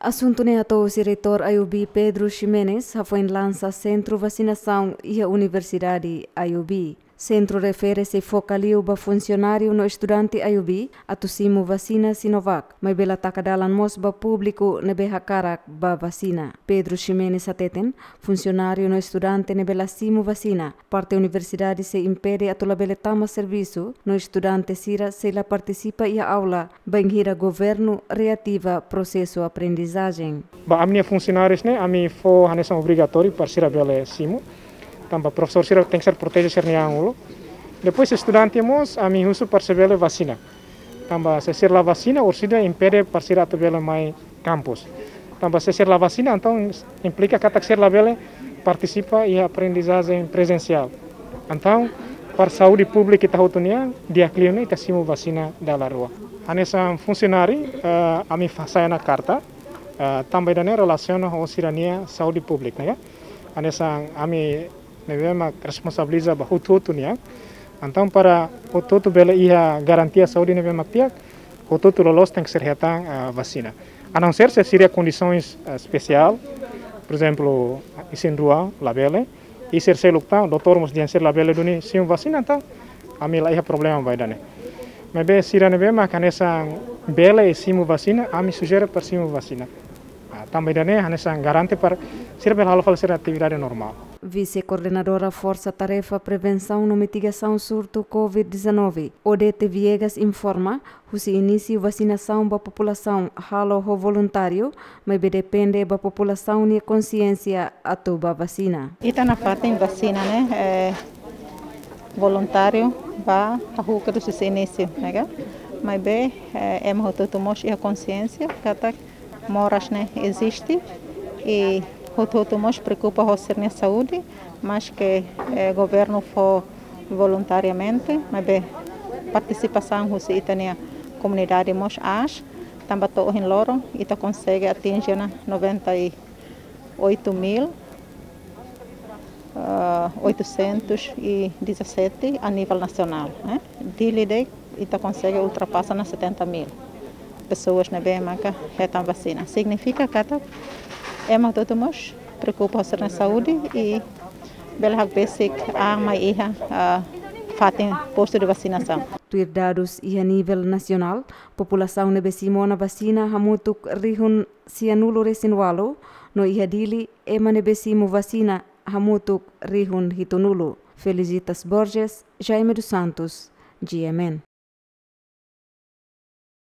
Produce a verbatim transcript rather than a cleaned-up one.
Asuntu ne'e hato'o husi Reitór I U B Pedro Ximenes hafoin lansa sentru vasinasaun iha Universidade I U B. Sentru refere sei foka liu ba funsionáriu no estudante I U B atu simu vasina Sinovac, maibé la taka dalan mós ba públiku ne'ebé hakarak ba vasina. Pedro Ximenes hateten, funsionáriu no estudante ne'ebé la simu vasina, parte universidade sei impede atu labele tama servisu, no estudante sira sei la partisipa iha aula, bainhira governu reativa prosesu aprendizajen. Ba ami-nia funsionárius ne'e, ami fó hanesan obrigatóriu para sira bele simu. Tanba profesór sira tenke ser proteje sira-nia an uluk. Depois estudante mós, ami husu para sira bele vasina. Tanba se sira la vasina, orsida impede para sira atu bele mai kampus. Tanba se sira la vasina, entaun implika katak sira labele partisipa iha aprendizajen prezensiál. Entaun, para saúde públika ita hotu nian, di'ak liu ne'e ita simu vasina dala rua. Hanesan funsionáriu, eh, ami fa-, hasai ona karta, eh, tanba ida-ne'e relasiona ho sira-nia saúde públika, ne'e ka? Hanesan ami ne'ebé mak responsabiliza ba hotu-hotu nian. Entaun para hotu-hotu bele iha garantia saúde ne'ebé mak di'ak, hotu-hotu loloos tenke ser hetan, ah, vasina. A não ser se sira kondisaun, ah, espesiál, por ezemplu, isin-rua labele, i sira seluk tan, doutór mós dehan sira labele duni simu vasina, entaun ami la iha problema ba ida-ne'e. Maibé sira ne'ebé mak hanesan bele simu vasina, ami sujere para simu vasina. Ah, tanba ida-ne'e hanesan garante para sira bele halo fali sira atividade normál. Vise-Koordenadora Forsa Tarefa Prevensaun no Mitigasaun Surtu covid dezanove, Odete Viegas, informa, husi inísiu vasinasaun ba populasaun halo ho voluntáriu, maibé depende ba populasaun nia konsiénsia atu bá vasina. Ita nafatin vasina ne'e, eh, voluntáriu bá hahú kedas husi inísiu, ne'e ka? Maibé, eh, ema hotu-hotu mós iha konsiénsia katak moras ne'e eziste i hotu-hotu mós preokupa ho sira-nia saúde, maske, eh, governu fó voluntariamente, maibé partisipasaun husi ita-nia komunidade mós aas, tanba to'o ohin loron ita konsege atinje ona noventa e oito mil, ah, oitocentos e dezassete a nível nacional, eh. Dili de'it ita konsege ultrapasa ona setenta mil pessoas ne'ebé maka hetan vasina. Signifika katak ema hotu-hotu mós preokupa ho sira-nia saúde i bele hakbesik an mai iha, ah, fatin postu de vasinasaun. Tuir dadus iha nivel nasionál, populasaun ne'ebé simu ona vasina hamutuk rihun sianulu-resin-ualu, no iha Dili ema ne'ebé simu vasina hamutuk rihun hitunulu. Felicitas Borges, Jaime dos Santos, G M N.